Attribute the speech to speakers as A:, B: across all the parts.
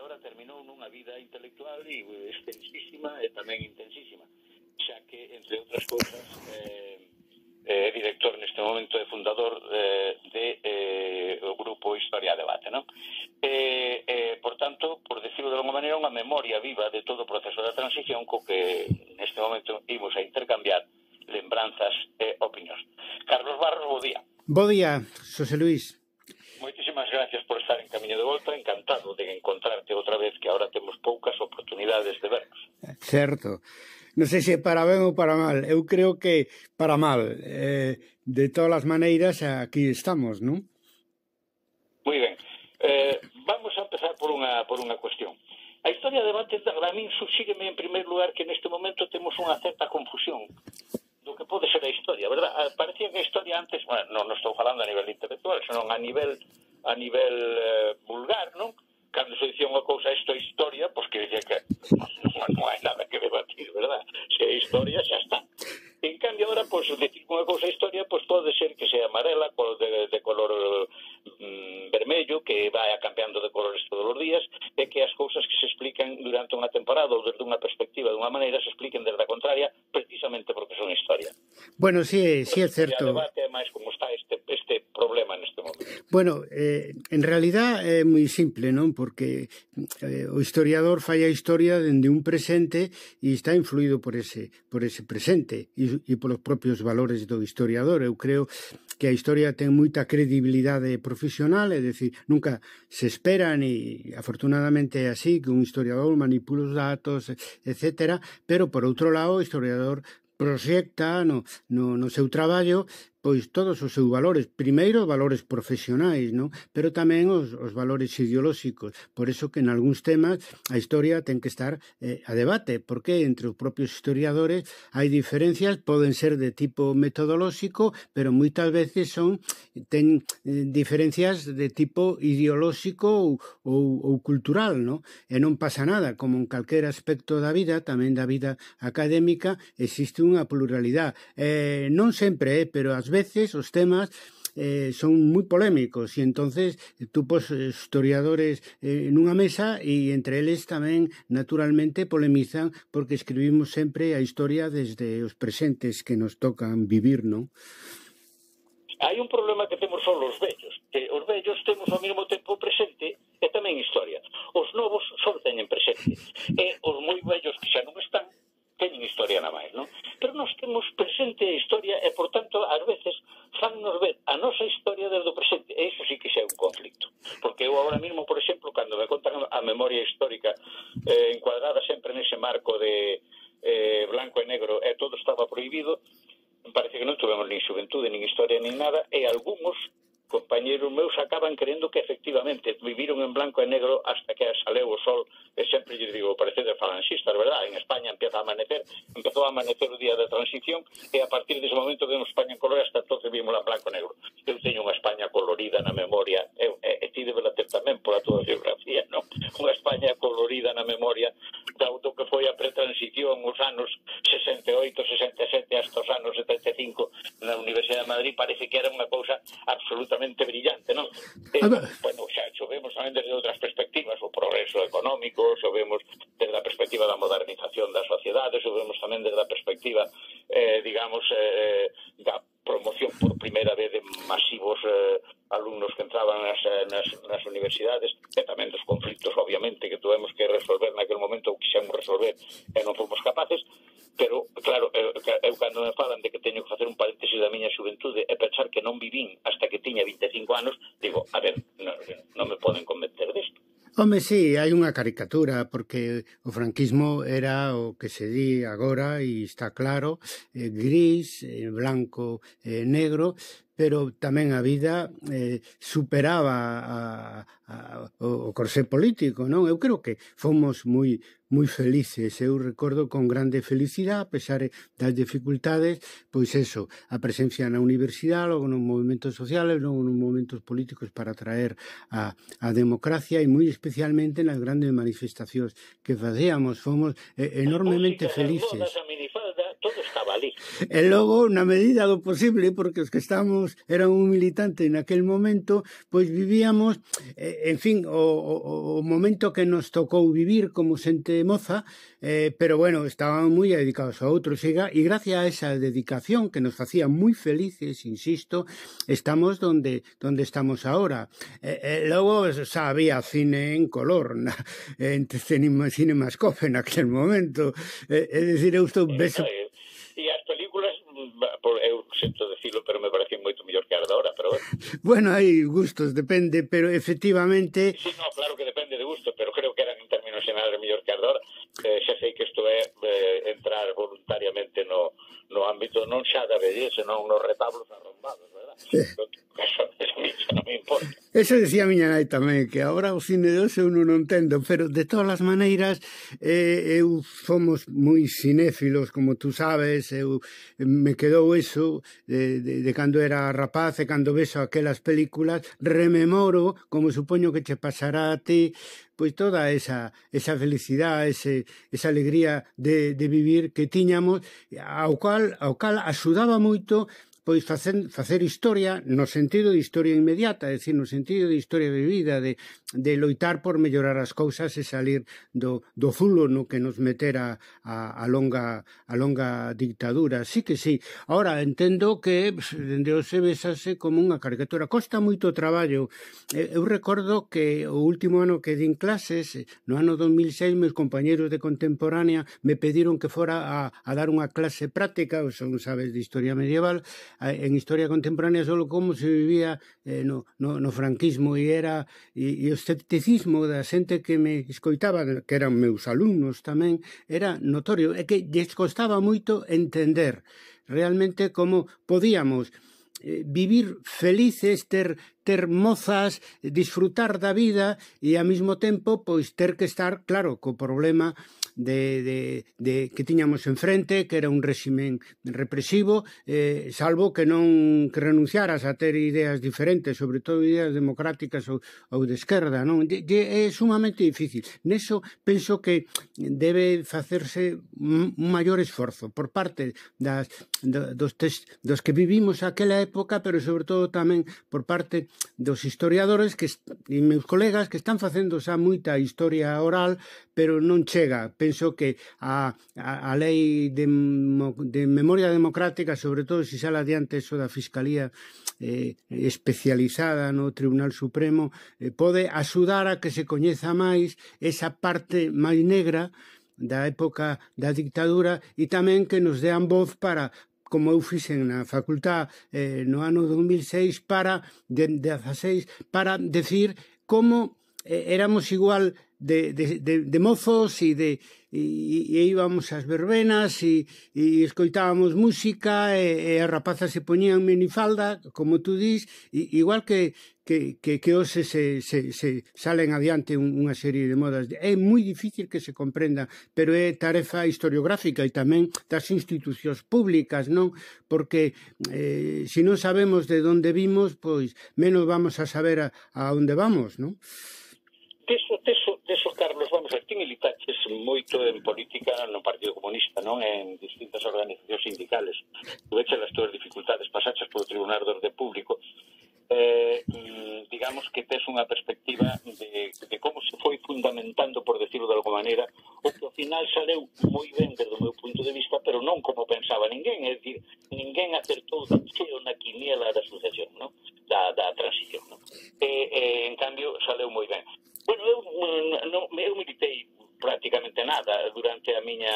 A: agora terminou nunha vida intelectual e extensísima e tamén intensísima, xa que, entre outras cousas, é director neste momento e fundador do grupo Historia a Debate, non? Por tanto, por decirlo de alguma maneira, unha memoria viva de todo o proceso da transición co que neste momento imos a intercambiar lembranzas e opinións. Carlos Barros, bo día.
B: Bo día, Xosé Luís.
A: Moitísimas gracias por estar en camiño de volta, encantado de encontrarte outra vez, que agora temos poucas oportunidades de vernos.
B: Certo. Non sei se para ben ou para mal. Eu creo que para mal. De todas as maneiras, aquí estamos, non?
A: Moi ben. Vamos a empezar por unha cuestión. A historia de debate, a min subsígueme en primeiro lugar que neste momento temos unha certa confusión do que pode ser a historia, verdad? Parecía que a historia antes, bueno, non estou falando a nivel intelectual, senón a nivel vulgar, non? Cando se dicía unha cousa, isto é historia, pois que dicía que non hai nada que debatir, verdad? Se é historia, xa está. En cambio, agora, pois, decir unha cousa é historia, pois pode ser que sea amarela, de color vermello, que vai cambiando de colores todos os días, e que as cousas que se explican durante unha temporada ou desde unha perspectiva dunha maneira se expliquen desde a contraria, precisamente porque son historia.
B: Bueno, sí é certo.
A: O debate é máis como está este problema neste momento.
B: Bueno, en realidad é moi simple, non? Porque o historiador fai a historia dende un presente e está influído por ese presente e polos propios valores do historiador. Eu creo que a historia ten moita credibilidade profesional, é dicir, nunca se espera, ni afortunadamente é así, que un historiador manipula os datos, etcétera, pero por outro lado o historiador proxecta no seu traballo pois todos os seus valores, primeiro valores profesionais, non? Pero tamén os valores ideolóxicos. Por eso que en algúns temas a historia ten que estar a debate, porque entre os propios historiadores hai diferencias, poden ser de tipo metodolóxico, pero moitas veces ten diferencias de tipo ideolóxico ou cultural, non? E non pasa nada, como en calquera aspecto da vida, tamén da vida académica, existe unha pluralidade. Non sempre, pero ás veces os temas son moi polémicos e entonces tú pos historiadores nunha mesa e entre eles tamén naturalmente polemizan porque escribimos sempre a historia desde os presentes que nos tocan vivir, non?
A: Hai un problema que temos só os vellos, que os vellos temos ao mesmo tempo presente e tamén historia. Os novos só teñen presente e os moi vellos que xa non están teñen historia na máis, non? Pero nós temos presente a historia e, por tanto, ás veces fannos ver a nosa historia desde o presente. E iso sí que xa é un conflicto. Porque eu agora mesmo, por exemplo, cando me contan a memoria histórica encuadrada sempre nese marco de blanco e negro e todo estaba prohibido, parece que non tuvemos nin xuventude, nin historia, nin nada, e algúns compañeros meus acaban crendo que efectivamente viviron en blanco e negro hasta que saleu o sol, e sempre lle digo, parece de falanxistas, verdad? En España empezou a amanecer o día da transición e a partir dese momento vemos España en color, hasta entonces vimos en blanco e negro. Eu teño unha España colorida na memoria, e ti debela ter tamén pola tua biografía, non? Unha España colorida na memoria do que foi a pretransición os anos 68, 67 hasta os anos 75 na Universidade de Madrid, parece que era unha cousa absolutamente brillante, non? Bueno, xa vemos tamén desde outras perspectivas, o progreso económico, o vemos desde a perspectiva da modernización das sociedades, o vemos tamén desde a perspectiva, digamos, da promoción por primeira vez de masivos alumnos que entraban nas universidades, e tamén dos conflictos, obviamente, que tuvemos que resolver naquele momento, ou quixemos resolver e non fomos capaces. Pero, claro, eu cando me falan de que teño que facer un paréntesis da miña xuventude e pensar que non vivín hasta que tiña 25 anos, digo, a ver, non me poden convencer desto.
B: Home, sí, hai unha caricatura, porque o franquismo era o que se di agora, e está claro, gris, blanco, negro, pero tamén a vida superaba o corsé político, non? Eu creo que fomos moi felices. Eu recordo con grande felicidade, a pesar das dificultades, pois eso, a presencia na universidade, logo nos movimentos sociales, logo nos movimentos políticos para traer a democracia, e moi especialmente nas grandes manifestacións que facíamos. Fomos enormemente felices.
A: todo estaba ali.
B: E logo, na medida do posible, porque os que estábamos, eran un militante naquel momento, pois vivíamos, en fin, o momento que nos tocou vivir como xente moza, pero bueno, estaban moi dedicados a outros, e gracias a esa dedicación que nos facía moi felices, insisto, estamos donde estamos ahora. Logo xa había cine en color, en Cinemascope naquel momento, é dicir, eu estou...
A: E as películas, eu sinto decirlo, pero me parecen moito mellor que as de ahora, pero bueno.
B: Bueno, hai gustos, depende, pero efectivamente...
A: Sí, no, claro que depende de gusto, pero creo que eran en términos xerais mellor que as de ahora. Xa sei que isto é entrar voluntariamente no ámbito non xa da belleza, non nos retablos arrombados, verdad? Eso non me importa.
B: Eso decía a miña nai tamén, que agora o cine de hoxe eu non entendo, pero de todas as maneiras eu somos moi cinéfilos, como tú sabes, me quedou eso de cando era rapaz e cando vexo aquelas películas, rememoro, como supoño que che pasará a ti, pois toda esa felicidade, esa alegría de vivir que tiñamos, ao cal axudaba moito pois facer historia no sentido de historia inmediata, é dicir, no sentido de historia de vida, de loitar por mellorar as cousas e salir do zulo no que nos metera a longa dictadura. Sí que sí. Ahora, entendo que dende hoxe vexase como unha caricatura. Costa moito traballo. Eu recordo que o último ano que din clases, no ano 2006, meus compañeros de contemporánea me pediron que fora a dar unha clase práctica, ou son, sabes, de historia medieval, en historia contemporánea, solo como se vivía no franquismo, e o escepticismo da xente que me escoitaba, que eran meus alumnos tamén, era notorio, é que lles costaba moito entender realmente como podíamos vivir felices, ter mozas, disfrutar da vida e ao mesmo tempo pois ter que estar, claro, co problema de que tiñamos enfrente, que era un réximen represivo, salvo que non que renunciaras a ter ideas diferentes, sobre todo ideas democráticas ou de esquerda, non? É sumamente difícil. Neso penso que debe facerse un maior esforzo por parte dos que vivimos aquela época, pero sobre todo tamén por parte dos historiadores e meus colegas que están facendo xa moita historia oral, pero non chega. Penso que a lei de memoria democrática, sobre todo se sale adiante eso da Fiscalía especializada no Tribunal Supremo, pode axudar a que se coñeza máis esa parte máis negra da época da dictadura e tamén que nos dean voz para, como eu fixen na facultad no ano 2006, para decir como éramos igual de mozos e íbamos ás verbenas e escoitábamos música e as rapazas se poñían minifalda, como tú dis, igual que hoxe se salen adiante unha serie de modas. É moi difícil que se comprenda, pero é tarefa historiográfica e tamén das institucións públicas, non? Porque se non sabemos de onde vimos, pois menos vamos a saber a onde vamos, non?
A: Deso, Carlos, vamos a ver, ti militaches moito en política no Partido Comunista, non? En distintas organizacións sindicales. Tuveche as túas dificultades, pasaches polo Tribunal de Orde Público. Digamos que tes unha perspectiva de como se foi fundamentando, por decirlo de alguma maneira, o que ao final saleu moi ben desde o meu punto de vista, pero non como pensaba ninguén, é dicir, ninguén acertou de cheo na quiniela da sucesión, non? Da transición, non? En cambio, saleu moi ben. Bueno, eu militei prácticamente nada durante a miña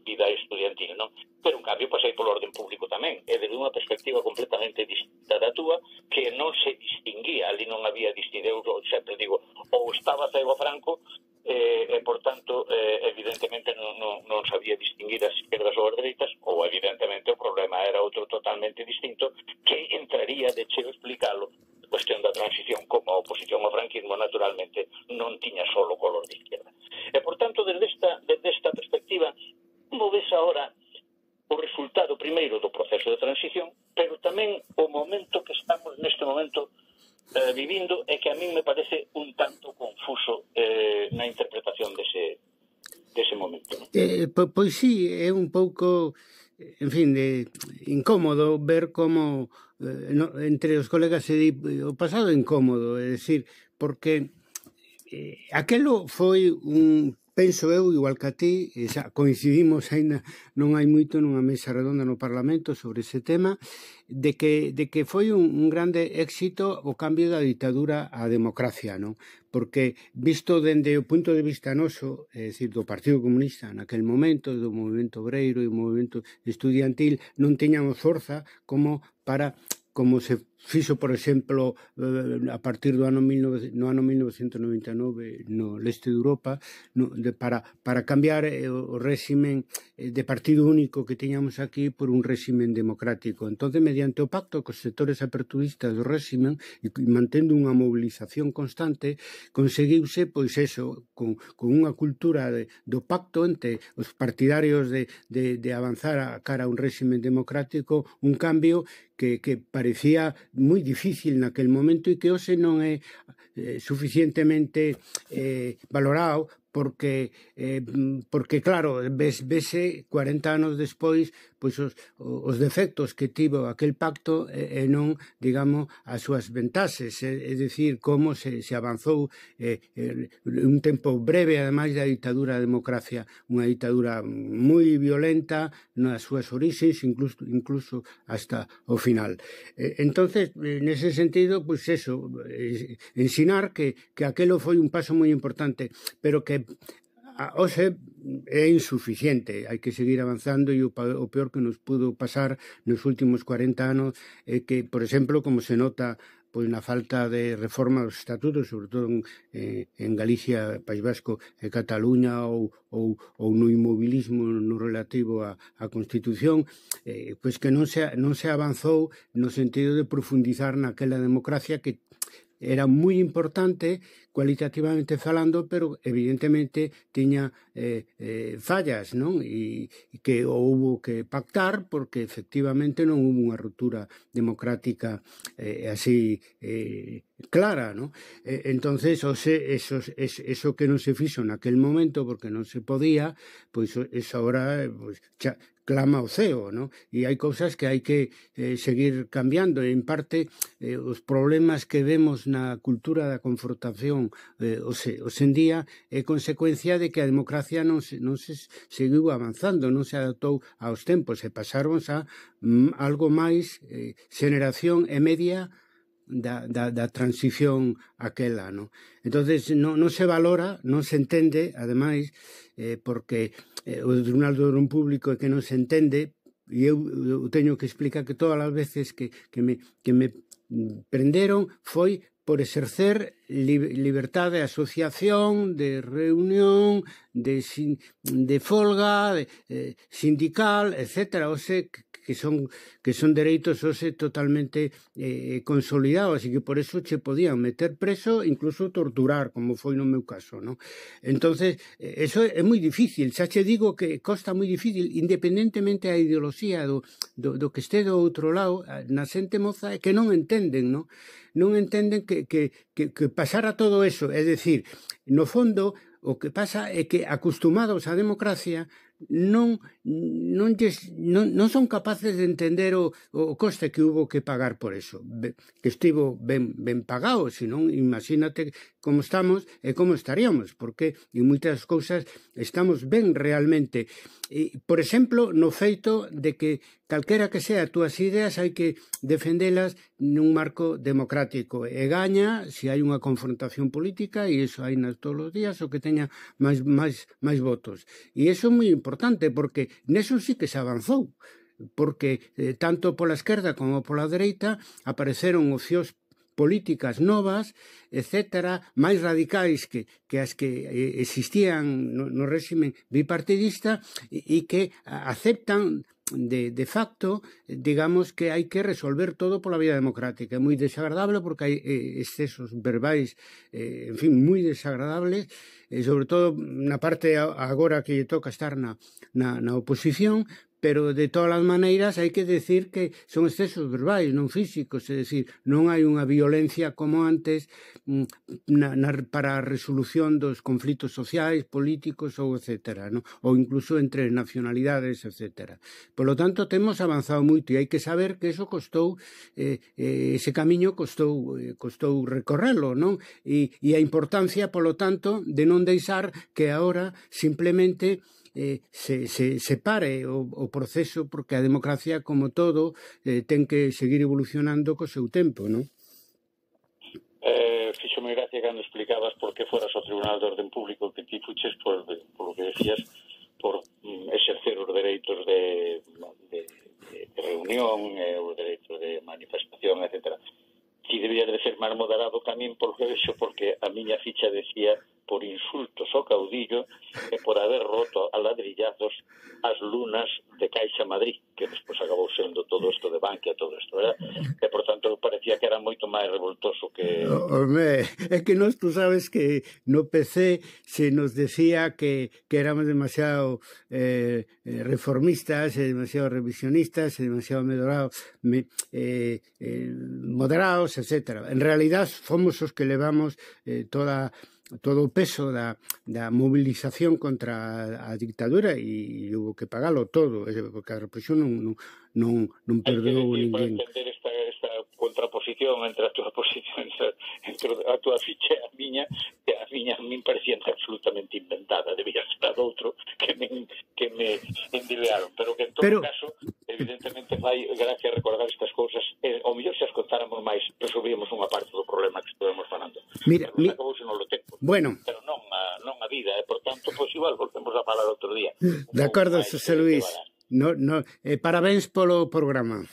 A: vida estudiantil, non? Pero, en cambio, pasei polo orden público tamén, e desde unha perspectiva completamente distinta da túa, que non se distinguía, ali non había distinción, eu sempre digo, ou estaba cego Franco, e, por tanto, evidentemente non sabía distinguir as izquierdas ou as dereitas, ou, evidentemente, o problema era outro totalmente distinto, que entraría de cheo explicalo, cuestión da transición, como a oposición ao franquismo, naturalmente, non tiña solo color de izquierda. E, por tanto, desde esta perspectiva, como ves ahora o resultado primeiro do proceso de transición, pero tamén o momento que estamos neste momento vivindo, é que a min me parece un tanto confuso na interpretación dese momento, ¿no?
B: Pois sí, é un pouco, en fin, incómodo ver como entre os colegas se di o pasado incómodo, é dicir, porque aquelo foi penso eu, igual que a ti, xa coincidimos aínda non hai moito nunha mesa redonda no Parlamento sobre ese tema, de que foi un grande éxito o cambio da ditadura á democracia, non? Porque visto dende o punto de vista noso, é dicir, do Partido Comunista naquel momento, do movimento obreiro e do movimento estudiantil, non tiñamos forza como se fixo, por exemplo, a partir do ano 1999 no leste de Europa, para cambiar o réximen de partido único que tiñamos aquí por un réximen democrático. Entón, mediante o pacto cos sectores aperturistas do réximen e mantendo unha mobilización constante, conseguiuse, pois eso, con unha cultura do pacto entre os partidarios de avanzar a cara a un réximen democrático, un cambio que parecía moi difícil naquel momento e que hoxe non é suficientemente valorado porque claro, vese 40 anos despois pois os defectos que tivo aquel pacto e non, digamos, as súas ventaxes, é dicir, como se avanzou un tempo breve, ademais da ditadura da democracia, unha ditadura moi violenta nas súas orixes, incluso hasta o final. Entonces, nese sentido, pois eso, ensinar que aquelo foi un paso moi importante, pero que hoxe é insuficiente, hai que seguir avanzando e o peor que nos pudo pasar nos últimos 40 anos é que, por exemplo, como se nota pois na falta de reforma dos estatutos, sobre todo en Galicia, País Vasco e Cataluña ou no inmobilismo no relativo á Constitución, pois que non se avanzou no sentido de profundizar naquela democracia que era moi importante cualitativamente falando, pero evidentemente tiña fallas, non? E que houbo que pactar porque efectivamente non houbo unha ruptura democrática así clara, non? Entonces, eso que non se fixo naquel momento porque non se podía, pois eso agora xa clama ao ceo, non? E hai cousas que hai que seguir cambiando, e en parte os problemas que vemos na cultura da confrontación hoxe en día é consecuencia de que a democracia non se seguiu avanzando, non se adaptou aos tempos e pasaron a algo máis xeración e media da transición aquela, non? Entonces non se valora, non se entende, ademais, porque o Tribunal do Orden Público é que non se entende, e eu teño que explicar que todas as veces que me prenderon foi por exercer liberdade de asociación, de reunión, de folga, sindical, etcétera, o sea, que son dereitos hoxe totalmente consolidados e que por eso che podían meter preso, incluso torturar, como foi no meu caso, non? Entonces, eso é moi difícil, xa che digo que costa moi difícil, independentemente a ideoloxía do que este do outro lado, na xente moza é que non entenden, non? Non entenden que pasara todo eso, é dicir, no fondo, o que pasa é que acostumados á democracia non son capaces de entender o coste que hubo que pagar por eso, que estivo ben pagado, senón imagínate como estamos e como estaríamos, porque en moitas cousas estamos ben realmente. Por exemplo, no feito de que calquera que sea as túas ideas hai que defendelas nun marco democrático e gaña se hai unha confrontación política, e iso hai todos os días, o que teña máis votos. E iso é moi importante porque neso sí que se avanzou, porque tanto pola esquerda como pola dereita apareceron opcións políticas novas, etcétera, máis radicais que as que existían no réximen bipartidista e que aceptan de facto, digamos, que hai que resolver todo pola vía democrática. É moi desagradable porque hai excesos verbais, en fin, moi desagradables, sobre todo na parte agora que lle toca estar na oposición, pero de todas as maneiras hai que decir que son excesos verbais, non físicos, é dicir, non hai unha violencia como antes para a resolución dos conflitos sociais, políticos ou etcétera, non? Ou incluso entre nacionalidades, etcétera. Por lo tanto, temos avanzado moito e hai que saber que eso costou, ese camiño costou recorrelo, non? E a importancia, polo tanto, de non deixar que agora simplemente se pare o proceso, porque a democracia, como todo, ten que seguir evolucionando co seu tempo, non?
A: Fíxome gracia cando explicabas por que foras ao Tribunal de Orden Público, que ti fuches por lo que decías, por exercer os dereitos de reunión, os dereitos de manifestación, etc. Ti debías de ser máis moderado tamén, por que vexo, porque a miña ficha decía por insultos ao caudillo e por haber roto a ladrillazos as lunas de Caixa Madrid, que despois acabou sendo todo isto de Bankia, todo isto, verdad? E, por tanto, parecía que era moito máis revoltoso que...
B: Home, é que tú sabes que no PC se nos decía que éramos demasiado reformistas, demasiado revisionistas, demasiado moderados, etc. En realidad, fomos os que levamos todo o peso da movilización contra a dictadura e houve que pagalo todo, porque a represión non perdoou ninguén.
A: Para entender esta contraposición entre a túa posición, entre a túa ficha e a miña, que a min parecía absolutamente inventada, debía ser outro que me endilearon, pero que en todo caso, evidentemente fai gracia recordar estas cousas, ao mellor se as contáramos máis, resolvíamos unha parte do problema que estivemos falando.
B: Mira,
A: acabou se non lo tempo.
B: Bueno.
A: Pero non a vida, por tanto, pois igual volvemos a falar outro día.
B: De acordo, José Luis. Parabéns polo programa.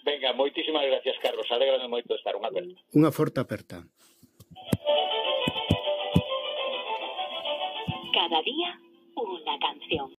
A: Venga, moitísimas gracias, Carlos. Alégrame moito de estar. Unha aperta.
B: Unha forte aperta.
C: Cada día, unha canción.